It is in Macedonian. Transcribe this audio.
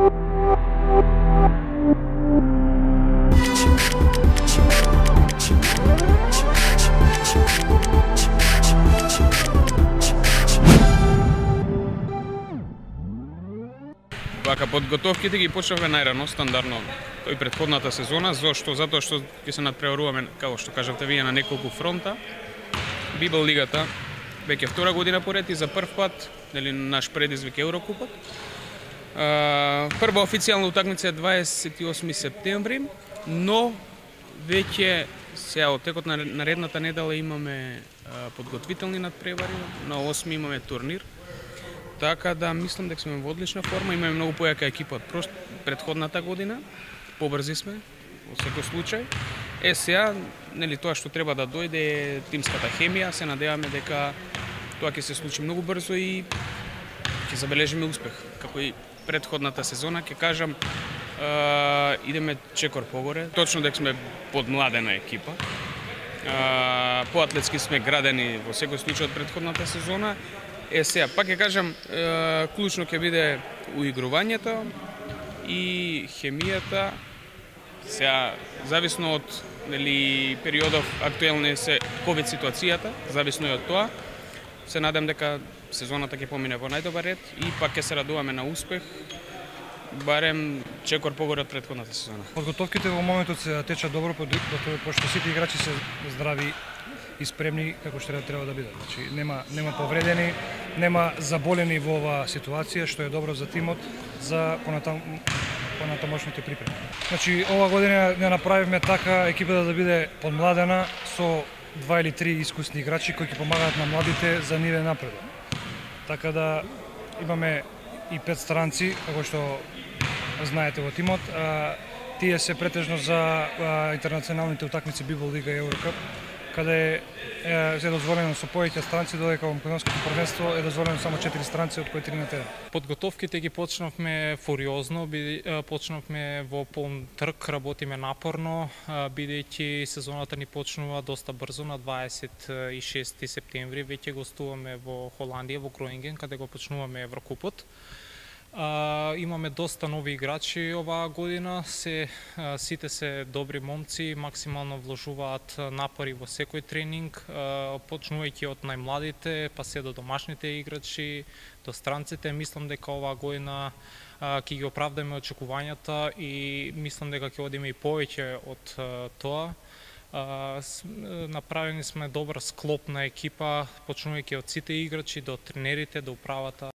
Вака, подготовките ги почнавме најрано, стандардно, тој претходната сезона, затоа што ќе се надпреваруваме, како што кажавте вие, на неколку фронта. Библ лигата веќе втора година поред и за прв пат, нели, наш предизвик Еврокупот. Прва официјална утакмица е 28 септември, но веќе сега од текот на наредната недела имаме подготвителни надпревари, на 8 имаме турнир. Така да мислам дека сме во одлична форма, имаме многу појака екипа од претходната година, побрзи сме во секој случај. Сега, нели, тоа што треба да дојде е тимската хемија, се надеваме дека тоа ќе се случи многу брзо и ќе забележиме успех. Како и претходната сезона, ќе кажам, идеме чекор погоре. Точно дека сме подмладена екипа. Поатлетски сме градени во секој случај од претходната сезона. Сега, пак ќе кажам, клучно ќе биде уигрувањето и хемијата. Сега, зависно од, нели, периодов актуелна се ковид ситуацијата, зависно и од тоа, се надам дека сезоната ќе помине во најдобар ред и пак ќе се радуваме на успех, барем чекор погоре од претходната сезона. Подготовките во моментот се течат добро, пошто сите играчи се здрави и спремни како што треба да бидат. Значи, нема повредени, нема заболени во оваа ситуација, што е добро за тимот, за понатамошните припреми. Значи, ова година не направивме така екипата да биде подмладена со 2 или 3 искусни играчи кои ќе помагаат на младите за нивен напредок. Така да имаме и 5 странци, како што знаете во тимот. Тие се претежно за интернационалните утакмици Библ лига и Еврокап, каде е дозволено со повеќе странци, додека во македонското првенство е дозволено само 4 странци, од кои 3 на терен. Подготовките ги почнавме фуриозно, почнавме во полн трк, работиме напорно, бидејќи сезоната ни почнува доста брзо на 26 септември, веќе гостуваме во Холандија, во Гроинген, каде го почнуваме Еврокупот. Имаме доста нови играчи оваа година, сите се добри момци, максимално вложуваат напори во секој тренинг, почнувајќи од најмладите, па се до домашните играчи, до странците. Мислам дека оваа година ќе ги оправдаме очекувањата и мислам дека ќе одиме и повеќе од тоа. Направени сме добар склоп на екипа, почнувајќи од сите играчи до тренерите, до управата.